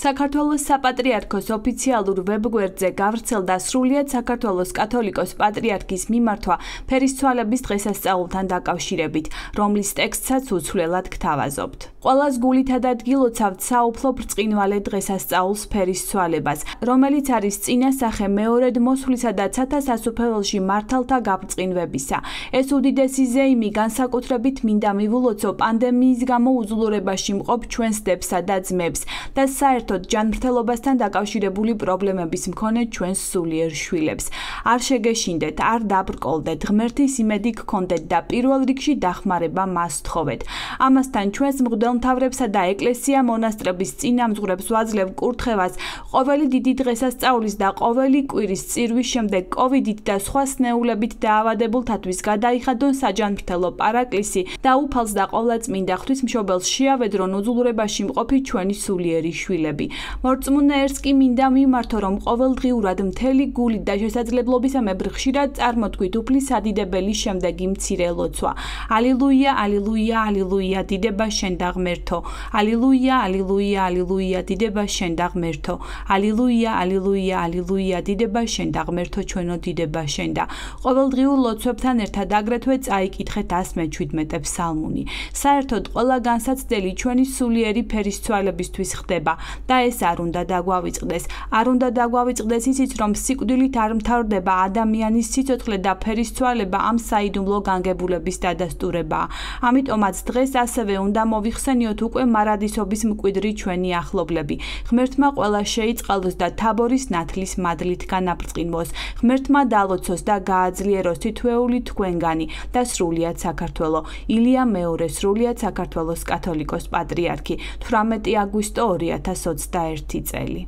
საქართველოს საპატრიარქოს ოფიციალურ ვებგვერდზე გავრცელდა სრულიად საქართველოს კათოლიკოს პატრიარქის მიმართვა ფერისცვალების დღესასწაულთან დაკავშირებით, რომლის ტექსტსაც უცვლელად გთავაზობთ. Ყველას გულითად ადგილოცავთ საუფლო ბრწყინვალე დღესასწაულს ფერისცვალებას, რომელიც არის წინასახე მეორედ მოსვლისა და ცათა სასუფეველში მართალთა გაბრწყინვებისა. ეს უდიდესი ზეიმი განსაკუთრებით მინდა მივულოცო პანდემიის გამო უძლურებაში მყოფ ჩვენს დებსა და ძმებს და საერთოდ ჯანმრთელობასთან დაკავშირებული პრობლემების მქონე ჩვენს სულიერ შვილებს. არ შეგეშინდეთ, არ დაბრკოლდეთ, ღმერთის იმედი გქონდეთ და პირველ რიგში დახმარება მას თხოვეთ. ამასთან ჩვენს მღვდელმთავრებსა და ეკლესია მონასტრების წინამძღვრებს ვაძლევ კურთხევას ყოველი დიდი დღესასწაულის და ყოველი კვირის წირვის შემდეგ კოვიდით და სხვა სნეულებით დაავადებულთათვის გადაიხადონ საჯანმრთელო პარაკლისი და უფალს და ყოვლადწმინდა ღვთისმშობელს შეავედრონ უძლურებაში მყოფი ჩვენი სულიერი შვილები. მორწმუნე ერთს კი მინდა მიმართო, რომ ყოველდღიურად მთელი გულით და შესაძლებლობისამებრ ხშირად წარმოთქვით უფლის ადიდებელი შემდეგი მცირე ლოცვა. ალილუია, ალილუია, ალილუია, დიდება შენ და ღმერთო. ალილუია, ალილუია, ალილუია, დიდება შენ და ღმერთო. ალილუია, ალილუია, ალილუია, დიდება შენ და ღმერთო, ჩვენო დიდება შენ და. ყოველდღიურ ლოცვებთან ერთად აგრეთვე წაიკითხეთ 117 ფსალმუნი. საერთოდ ყველა განსაცდელი ჩვენი სულიერი ფერისცვალებისთვის ხდება. და ეს არ უნდა დაგვავიწყდეს. არ უნდა დაგვავიწყდეს ისიც, რომ სიკვდილით არ მთავრდება ადამიანის სიცოცხლე და ფერისცვალება ამ საიდუმლო განგებულების დადასტურებაა. ამიტომაც დღეს ასევე უნდა მოვიხსენიოთ უკვე მარადისობის მკვიდრი ჩვენი ახლობლები. ღმერთმა ყველა შეიწყალოს და თაბორის ნათლის მადლით განაბრწყინვოს. ღმერთმა დალოცოს და გააძლიეროს თითოეული თქვენგანი და სრულიად საქართველო. ილია მეორე სრულიად საქართველოს კათოლიკოს პატრიარქი 18 აგვისტო 2021 წელი.